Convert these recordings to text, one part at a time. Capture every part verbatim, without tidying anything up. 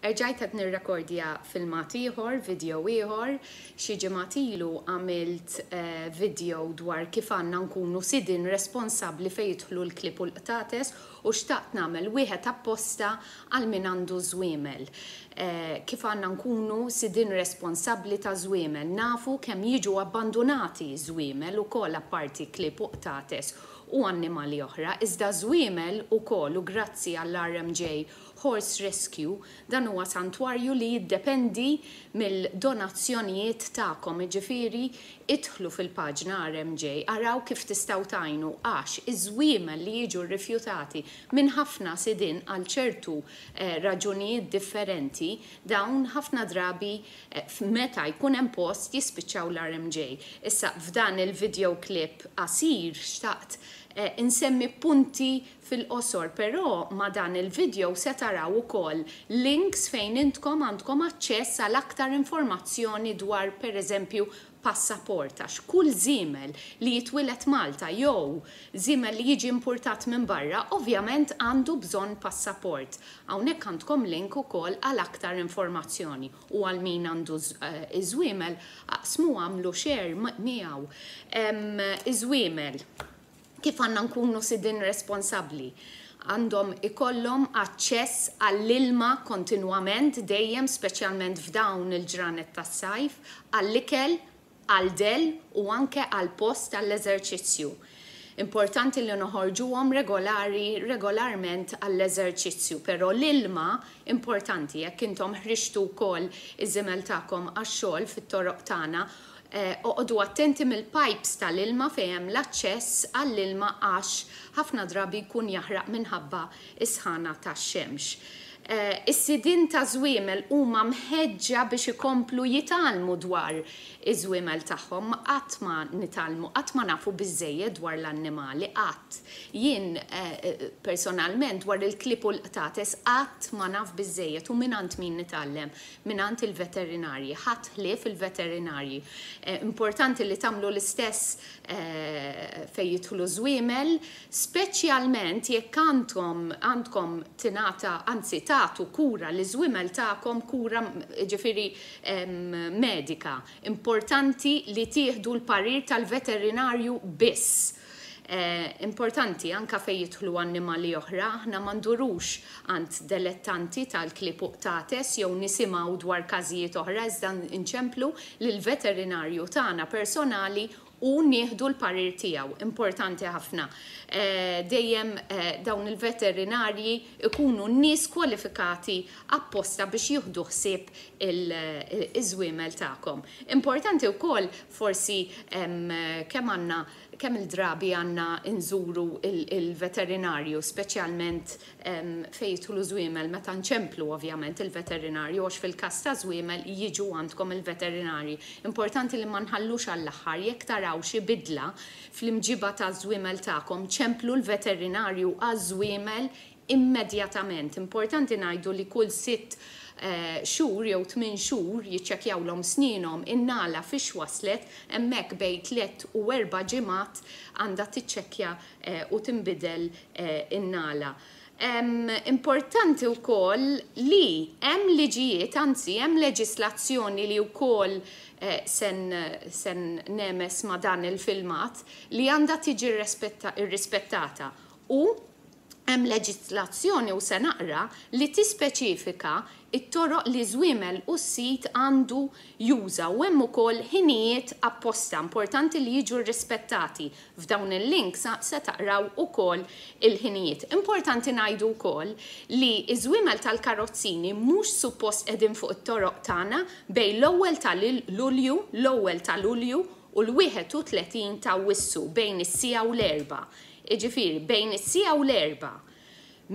Erġajt qed nirrekordja filmat ieħor, video ieħor, xi ġimgħat ilu għamilt eh, video dwar kif għandna nkunu sidin responsabbli fejn jidħlu l-klieb u l-qtates u xtaqt nagħmel wieħed apposta għal min għandu żwiemel. Eh, kif għandna nkunu sidin responsabbli ta' żwiemel, nafu kemm jiġu abbandonati żwiemel ukoll apparti klieb u qtates u annimali oħra, iżda żwiemel ukoll u grazzi għall-R M J Horse Rescue, dan huwa santwarju li jiddependi mill-donazzjonijiet tagħkom, jiġifieri idħlu fil-paġna R M J, araw kif tistgħu tgħinu għax iż-żwiemel li jiġu rrifjutati minn ħafna sidin għal ċertu eh, raġunijiet differenti, dawn ħafna drabi eh, meta jkun hemm post jispiċċaw l-R M J. Issa f'dan il-video clip qasir xtaqt eh, insemmi punti fil-qosor, però ma dan il-video se taraw ukoll links fejn intkom għandkom aċċess għal aktar informazzjoni dwar, per eżempju, passaport, għax kull żiemel li jitwieled Malta jew żiemel li jiġi importat minn barra ovvjament għandu bżonn passaport. Hawnhekk għandkom link ukoll għal aktar informazzjoni u għal min għandu iż-żwiemel aqsmu, għamlu share miegħu. Iż-żwiemel, kif għandna nkunu sidin responsabbli? Għandhom ikollhom aċċess għall-ilma kontinwament dejjem, speċjalment f'dawn il-ġranet tas-sajf, għall-ikel, għal-del u anke għal-post għall-eżerċizzju. Importanti li noħorġuhom regolari, regolarment għall-eżerċizzju, però l-ilma importanti. Jekk intom ħriġtu wkoll iż-żiemel tagħkom għax-xogħol fit-toroq tagħna, eh, oqogħdu attenti mill-pipes tal-ilma fejn hemm l-aċċess għall-ilma għax ħafna drabi jkun jaħraq minħabba is-sħana tax-xemx. Eh, Is-sidin ta' żwiemel huma mħeġġa biex ikomplu jitgħallmu dwar iż-żwiemel tagħhom. Qatt ma nitgħallmu, qatt ma nafu biżejjed dwar l-annimali, qatt. Jien eh, personalment dwar il-klieb u l-qtates qatt ma naf biżejjed u mingħand min nitgħallem? Mingħand il-veterinarji, ħadd ħlief il-veterinarji. Eh, importanti li tagħmlu l-istess eh, fejn jidħlu żwiemel, speċjalment jekk għandkom għandkom tingħata, anzi tagħtu kura liż-żwiemel tagħkom, kura ġifieri medika. Importanti li tieħdu l-parir tal-veterinarju biss. Eh, importanti anka fejn jidħlu annimali oħra, aħna ma ndurux għand dilettanti tal-klieb u qtates jew nisimgħu dwar każijiet oħra, iżda nċemplu lill-veterinarju tagħna personali u nieħdu l-parir tiegħu. Importanti ħafna. Eh, dejjem eh, dawn il-veterinarji ikunu nies kwalifikati apposta biex jieħdu ħsieb iż-żwiemel tagħkom. Importanti wkoll forsi kemm għandna kemm il-drabi għandna nżuru il-veterinarju, speċjalment fejn jidħlu żwiemel, meta nċemplu ovvjament il-veterinarju, għax fil-każ ta' żwiemel jiġu għandkom il-veterinarji. Importanti li ma nħallux għall-aħħar. Jekk taraw xi bidla fl-imġiba ta' żwiemel tagħkom, ċemplu l-veterinarju għaż-żwiemel immedjatament. Importanti ngħidu li kull sitt eh, xhur jew tmien xhur jiċċekkjawlhom snienhom, in-nagħla fiex waslet, hemmhekk bejn tliet u erba' ġimgħat għandha tiċċekkja eh, u tinbidel eh, in-nagħla. Importanti wkoll li hemm liġijiet, anzi hemm leġislazzjoni li wkoll sen, sen nemes ma dan il-filmat li għandha tiġi irrispettata u hemm leġislazzjoni, u se naqra, li tispeċifika it-toroq li żwiemel u s-sid għandu juża u hemm ukoll ħinijiet apposta importanti li jiġu rispettati. F'dawn il-links se taqraw ukoll il-ħinijiet. Importanti ngħidu wkoll li iż-żwiemel tal-karozzini mhux suppost qegħdin fuq it-toroq tagħna bejn l-ewwel tal-Lulju, l-ewwel ta' Lulju u l-wieħed u tletin ta' Awwissu bejn is-siegħa u l-erba'. Iġifieri, bejn is-siegħa u l-erba'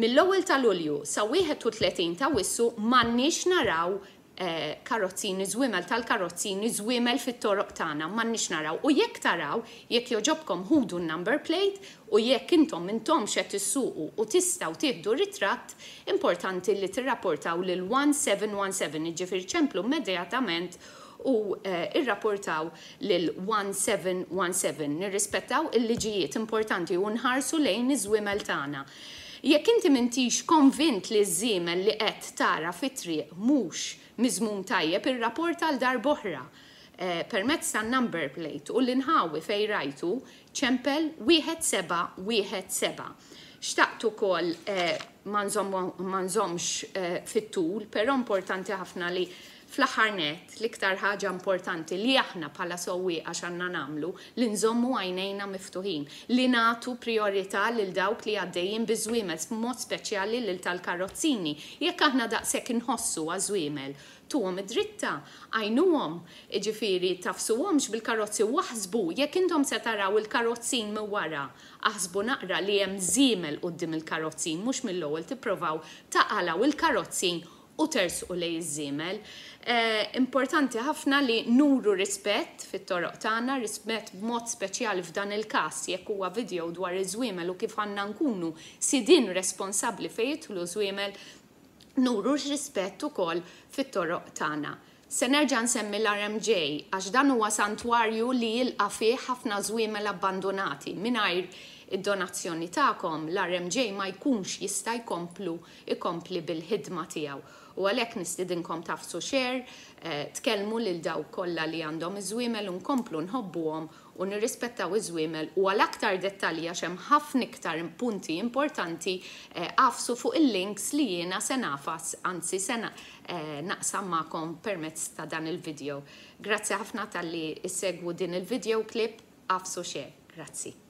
mill-ewwel ta' Lulju sa wieħed u tletin ta' Awwissu m'għandniex naraw eh, karozzini, żwiemel tal-karozzini, żwiemel fit-toroq tagħna, m'għandniex naraw. U jekk taraw, jekk jogħġobkom ħudu n-number plate u jekk intom intom qed issuqu u tistgħu tieħdu ritratt, importanti li tirrapportaw lil one seven one seven, jiġifieri ċemplu immedjatament u eh, irrapportaw lil one seven one seven. Nirrispettaw il-liġijiet, importanti, u nħarsu lejn iż-żwiemel tagħna. Jekk inti m'intix konvint li ż-żiemel li qed tara fit-triq mhux miżmum tajjeb, irrapporta għal darb'oħra eh, permezz tan-number plate u l-inħawi fejn rajtu, ċempel wieħed seba' wieħed seba'. Xtaqt ukoll eh, ma nżommx eh, fit-tul, però importanti ħafna li fl-aħħar net l-iktar ħaġa importanti li aħna bħala sewwieqa x'għandna nagħmlu, li nżommu għajnejna miftuħin, li nagħtu priorità lil dawk li għaddejjin biż-żwiemel, b'mod speċjali lil tal-karozzini. Jekk aħna daqshekk inħossu għaż-żwiemel, tuhom id-dritta, għinuhom, jiġifieri tagħfsuhomx bil-karozzi u aħsbu, jekk intom se taraw il-karozzin minn wara, aħsbu naqra li hemm żiemel quddiem il-karozzin, mhux mill-ewwel tipprovaw taqalgħu il-karozzin u tersqu lejn iż-żiemel. Eh, importanti ħafna li nuru rispett fit-toroq tagħna, rispett b'mod speċjali f'dan il-każ jekk huwa video dwar iż-żwiemel u kif għandna nkunu sidin responsabbli fejn jidħlu żwiemel, nuru rispett ukoll fit-toroq tagħna. Se nerġa' nsemmi l-R M J għax dan huwa santwarju li jilqa' fih ħafna żwiemel abbandonati. Mingħajr id-donazzjoni tagħkom l-R M J ma jkunx jista' jkomplu ikompli bil-ħidma tiegħu. U għalhekk nistidinkom tagħfsu share, eh, tkellmu lil dawk kollha li għandhom iż-żwiemel u nkomplu nħobbuhom u nirrispettaw iż-żwiemel. U għal aktar dettalji, għax hemm ħafna iktar punti importanti, eh, agħfsu fuq il-links li jiena se nagħfas, anzi se eh, naqsam magħkom permezz ta' dan il-video. Grazzi ħafna talli ssegwu din il-video clip, agħfsu share. Grazzi.